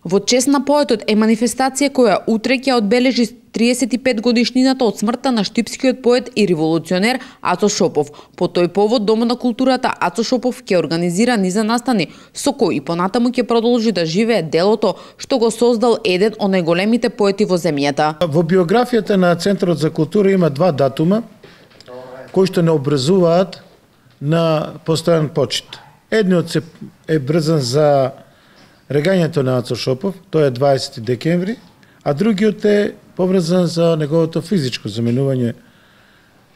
Во чест на поетот е манифестација која утре ќе одбележи 35 годишнината од смртта на штипскиот поет и револуционер Ацо Шопов. По тој повод Домот на културата Ацо Шопов ќе организира низа настани со кои и понатаму ќе продолжи да живее делото што го создал еден од најголемите поети во земјата. Во биографијата на Центарот за култура има два датума кои што не образуваат на постојан почит. Едниот е брзан за регањето на Ацо Шопов, тоа е 20 декември, а другиот е поврзан за неговото физичко заминување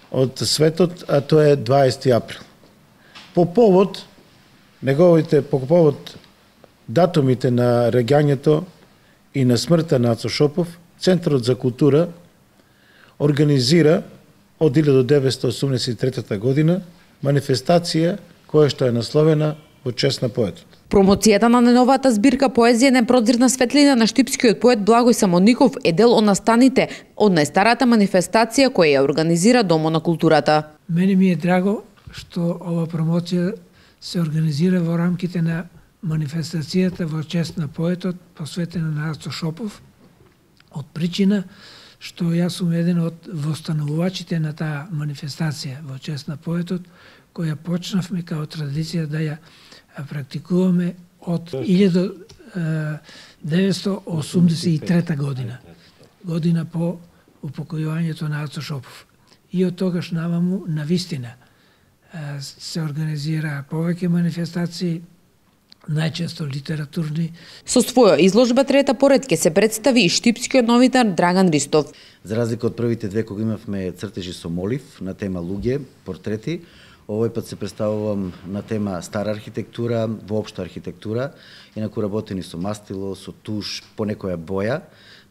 од светот, а тоа е 20 април. По повод датумите на регањето и на смртта на Ацо Шопов, Центарот за култура организира од 1983 година манифестација која што е насловена во чест на поетот. Промоцијата на најновата збирка поезија Непрозирна светлина на штипскиот поет Благој Самоников е дел од настаните од најстарата манифестација која ја организира Домот на културата. Мене ми е драго што ова промоција се организира во рамките на манифестацијата во чест на поетот посветена на Ацо Шопов, од причина што јас сум еден од востановувачите на таа манифестација во чест на поетот, која почнавме као традиција да ја практикуваме од 1983 година по упокојувањето на Ацо Шопов. И од тогаш наваму навистина се организира повеќе манифестации, најчесто литературни. Со своја изложба трета поред ќе се представи и штипскиот новинар Драган Ристов. За разлика од првите две кога имавме цртежи со молив на тема луѓе, портрети, овој пат се представувам на тема стара архитектура, воопшто архитектура, инаку работени со мастило, со туш, по некоја боја.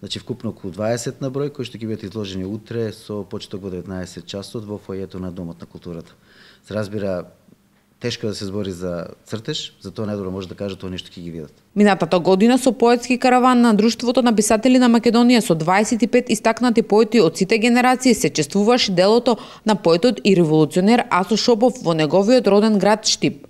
Значи вкупно околу 20 на број кои што ќе бидат изложени утре со почеток во 19 часот во фојето на Домот на културата. Се разбира, тешко да се збори за цртеж, затоа најдобро може да кажа тоа нешто ќе ги видат. Минатата година со поетски караван на Друштвото на писатели на Македонија со 25 истакнати поети од сите генерации се чествуваше делото на поетот и револуционер Ацо Шопов во неговиот роден град Штип.